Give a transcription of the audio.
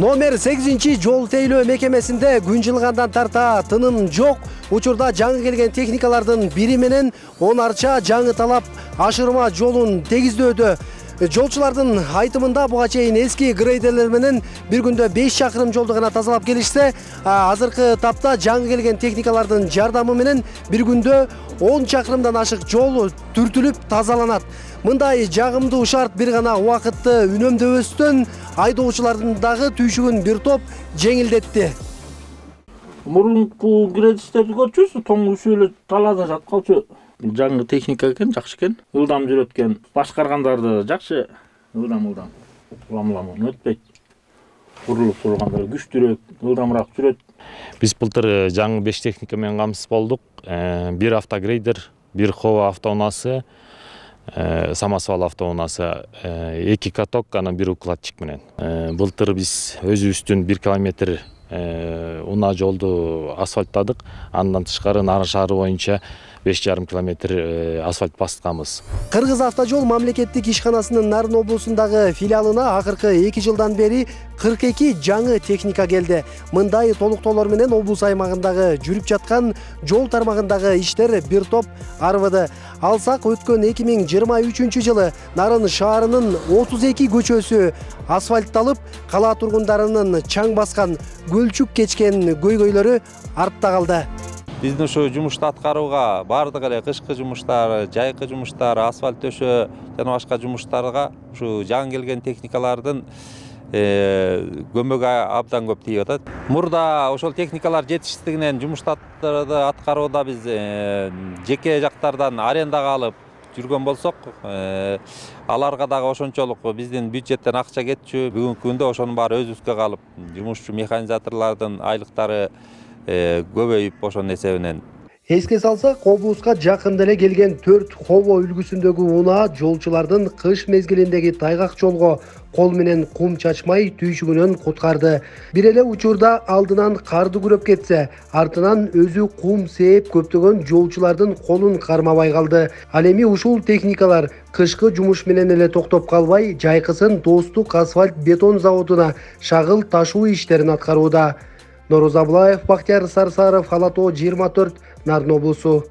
Номер 8 жол тейлөө мекемесинде күн жылгандан тарта тыным жок. Учурда жаңы келген техникалардын бири менен 10 арча жаңы талап ашырма жолун тегиздөөдө. Жолчулардын айтымында буга чейин эски грейдерлер менен бир күндө 5 чакырым жолду гана тазалап келишсе, азыркы тапта жаңы келген техникалардын жардамы менен бир күндө 10 чакырымдан ашык жол түртүлүп тазаланат. Мындай жагымдуу шарт бир гана убакытты үнөмдөбөстөн айдоочулардын дагы түйшүгүн бир топ жеңилдетти. Мурунку грейдерди көрчүбүз, тоңгусу эле талаада жаткалчу. Жаңы техника экен, жакшы экен. Ылдам жүрөт экен. Башкаргандарды жакшы ылдам улам өтпөйт. Курулуп тургандар күчтүүрөөк, ылдамыраак жүрөт. Биз былтыр жаңы 5 техника менен камсыз болдук. Бир автогрейдер, бир хова автоунаасы, самосвал автоунаасы, 2 каток, анан бир укладчик менен. Былтыр биз өзүбүздүн 1 километр унаа жолду асфальттадык. Андан тышкары Нарын шаары боюнча 5,5 километр асфальт басканбыз. Кыргыз автожол мамлекеттик ишканасынын Нарын облусундагы филиалына акыркы 2 жылдан бери 42 жаңы техника келди. Мындай толуктоолор менен облус аймагындагы жүрүп жаткан жол тармагындагы иштер бир топ арбыды. Алсак, өткөн 2023 жылы Нарын шаарынын 32 көчөсү асфальтталып, кала тургундарынын чаң баскан, көлчүк кечкен көйгөйлөрү артта калды. Биздин ушу жумушту аткарууга бардык эле кышкы жумуштар, жайкы жумуштар, асфальт төшөө жана башка жумуштарга ушу жаңы келген техникалардын көмөгү абдан көп тийип атат. Мурда ошол техникалар жетишсиздигинен жумуштарды аткарууда биз жеке жактардан арендага алып жүргөн болсок, аларга дагы ошончолук биздин бюджеттен акча кетчү. Бүгүнкү күндө ошонун баары өзүбүзгө калып, жумушчу механизаторлордун айлыктары көбөйүп ошонун эсебинен. Эске салсак, облуска жакында эле келген 4 хово үлгүсүндөгү унаа жолчулардын кыш мезгилиндеги тайгак жолго кол менен кум чачмай түйшүгүнөн куткарды. Бир эле учурда алдынан карды күрөп кетсе, артынан өзү кум сээп көптөгөн жолчулардын колун кармабай калды. Ал эми ушул техникалар кышкы жумуш менен эле токтоп калбай, жайкысын Достук асфальт бетон заводуна шагыл ташуу иштерин аткарууда. Нороза Аблаев, Бактияр Сарсаров, Ала Тоо 24, Нарын облусу.